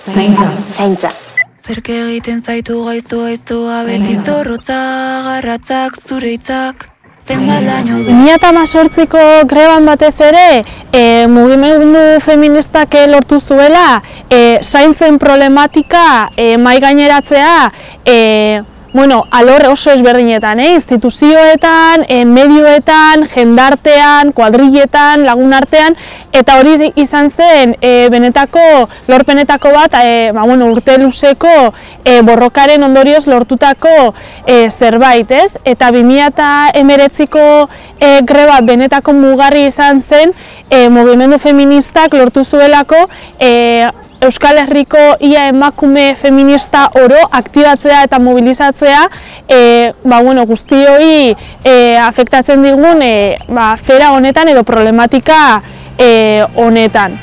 Zaintza. Zerke egiten zaitu gaiztoa beti zorrotza, garratzak, zure hitzak. 2018ko greban batez ere, mugimendu feministak lortu zuela, zaintzen problematika mahai gaineratzea, alor oso ezberdinetan, instituzioetan, medioetan, jendartean, kuadrilletan, lagunartean, eta hori izan zen benetako, lorpenetako bat, urte luzeko borrokaren ondorioz lortutako zerbait, ez? Eta 2019ko greba benetako mugarri izan zen, mugimendu feministak lortu zuelako, Euskal Herriko ia emakume feminista oro aktibatzea eta mobilizatzea guztioi afektatzen digun fera honetan edo problematika honetan.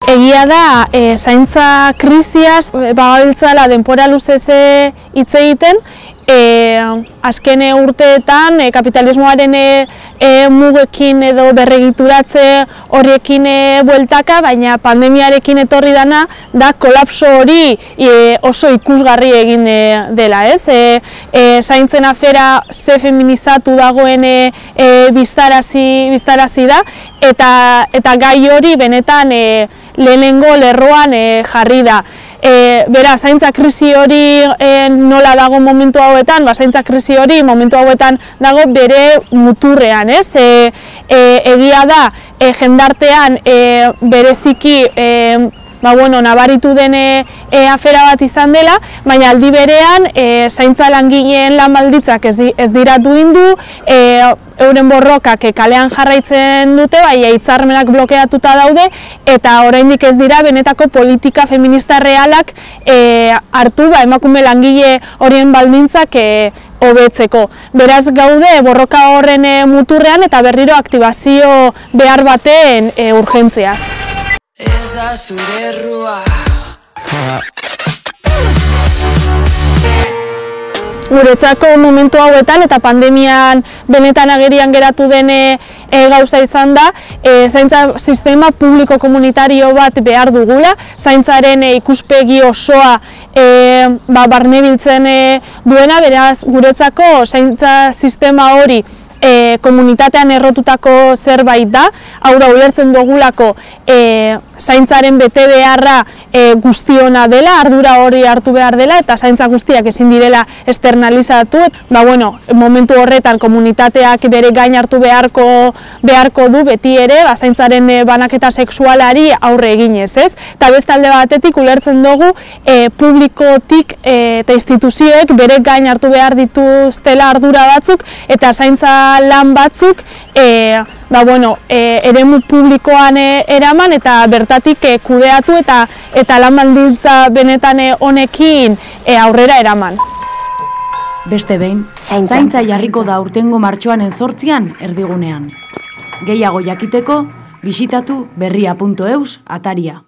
Egia da, zaintza krisiaz bagabiltzala denbora luzez hitz egiten, azken urteetan kapitalismoaren mugekin edo berregituratze horiekin bueltaka, baina pandemiarekin etorri dana da kolapso hori oso ikusgarri egin dela, ez? Zaintzen afera ze feminizatu dagoen biztarazi da, eta gai hori benetan lehenengo lerroan jarri da. Bera, zaintza krisi hori nola dago momentu hauetan, zaintza krisi hori momentu hauetan dago bere muturrean, ez? Egia da, jendartean bereziki nabaritu den afera bat izan dela, baina aldi berean zaintza langileen lan baldintzak ez dira duindu, euren borrokak kalean jarraitzen dute, hitzarmenak blokeatuta daude, eta oraindik ez dira benetako politika feminista realak hartu emakume langile horien baldintzak hobetzeko. Beraz gaude borroka horren muturrean eta berriro aktibazio behar baten urgentziaz. Ez da zure errua. Guretzako momentu hauetan eta pandemian benetan agerian geratu den gauza izan da, zaintza sistema publiko komunitario bat behar dugula, zaintzaren ikuspegi osoa barnebiltzen duena, beraz guretzako zaintza sistema hori komunitatean errotutako zerbait da, hau da ulertzen dugulako zaintzaren bete beharra guztiona dela, ardura hori hartu behar dela, eta zaintza guztiak ezin direla externalizatu. Momentu horretan komunitateak bere gain hartu beharko du beti ere, zaintzaren banaketa sexualari aurre eginez, ez? Eta bestalde batetik ulertzen dugu publikotik eta instituzioek bere gain hartu behar dituztela ardura batzuk, eta zaintza lan batzuk eremu publikoan eraman eta bertatik kudeatu eta lan baldintza benetan honekin aurrera eraman. Beste behin, zaintza jarriko da urtengo martxoaren 8an erdigunean. Gehiago jakiteko, bisitatu berria.eus ataria.